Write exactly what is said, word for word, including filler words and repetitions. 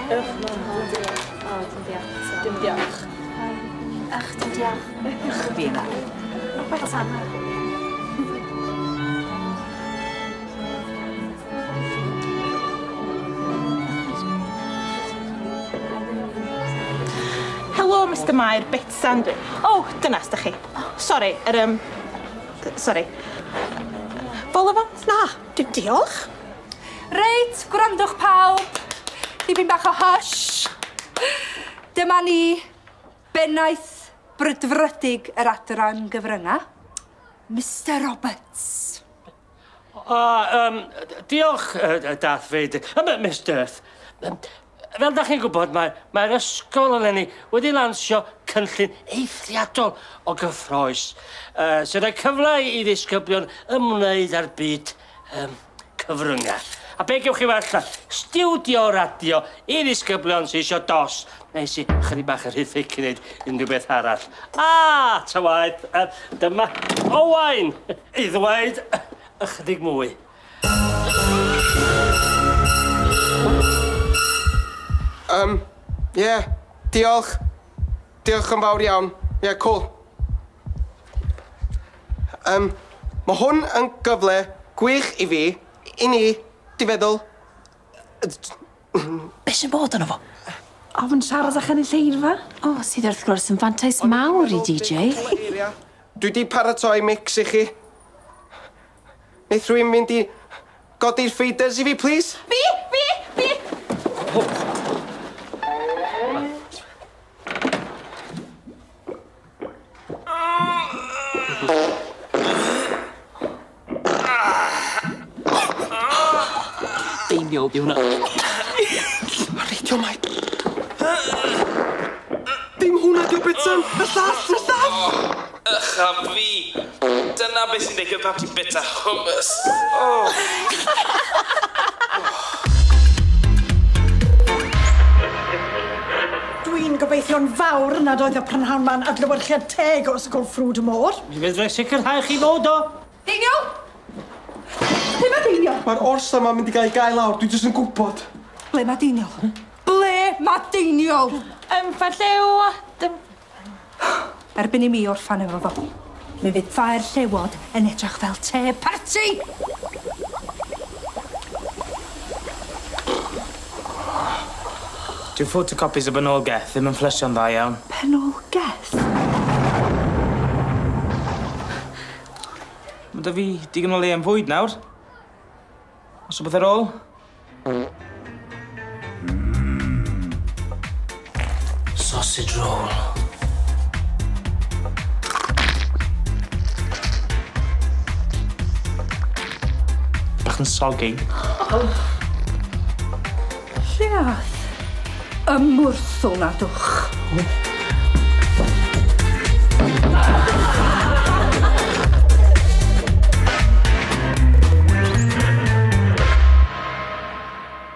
Ych, O, dim diolch. Dim diolch. Ych, dim diolch. Ych, fi yna. Betsan. Helo, Mister Mair, Betsan. O, dyna, ydych chi. Sori, yr... Um, sori. Vol-au-vent? Na, dim diolch. Reit, gwrandwch pawb. Dipyn bach o hush. Dyma ni, bennaeth brydfrydig yr adran gyfrynga, Mister Roberts. O, um, diolch, uh, Darth Vader. Um, Miss Durth. Um, fel da chi'n gwybod, mae'r mae ysgol eleni wedi lansio cynllun eithriadol o gyffrous, uh, sy'n rhoi cyfle i ddisgyblion ymwneud â'r byd um, cyfryngau. A be gewch chi well na stiwdio radio i ddisgyblion sy'n eisiau dos, neu sy'n chydig bach yn rhy thick i wneud unrhyw beth arall. A, ta waeth, dyma Owain i ddweud ychydig mwy. Um, ie, yeah, diolch. Diolch yn fawr iawn. Ie, yeah, cool. Um, mae hwn yn gyfle gwych i fi, i ni, di feddwl. Be sy'n bod yno fo? Ofn siarad â chynulleidfa? O, sydd wrth gwrs yn fantais mawr i D J. Dwi di paratoi mix i chi. Neith rhywun mynd i godi'r faders i fi, please? Fi! Fi! Fi! Deiniol di hwnna. Radio mai. Dim hwnna di o Betsan! Y llall! Y llall! Ych a fi! Dyna beth sy'n digwydd pan ti'n bita hummus. Oh. Dwi'n gobeithio'n fawr nad oedd y prynhawn ma'n adlewyrchiad teg o Ysgol Ffrwd y Môr. Mi fedrai sicrhau chi fod o. Deiniol! Ble mae Deiniol? Mae'r orsa ma'n mynd i gael ei gael lawr, dwi jyst yn gwybod. Ble mae Deiniol? Ble mae Deiniol? Ym, Ffair Llew... Dim... Erbyn i mi orffan efo fo, mi fydd Ffair Llewod yn edrych fel te parti! Dyw photocopies o Benolgeth ddim yn fflysio'n dda iawn. Penolgeth? Mae da fi digon o le am fwyd nawr. Os o beth ar ôl? Sausage roll. Bach yn soggy. Lle ath? Ymwrthol na dwch.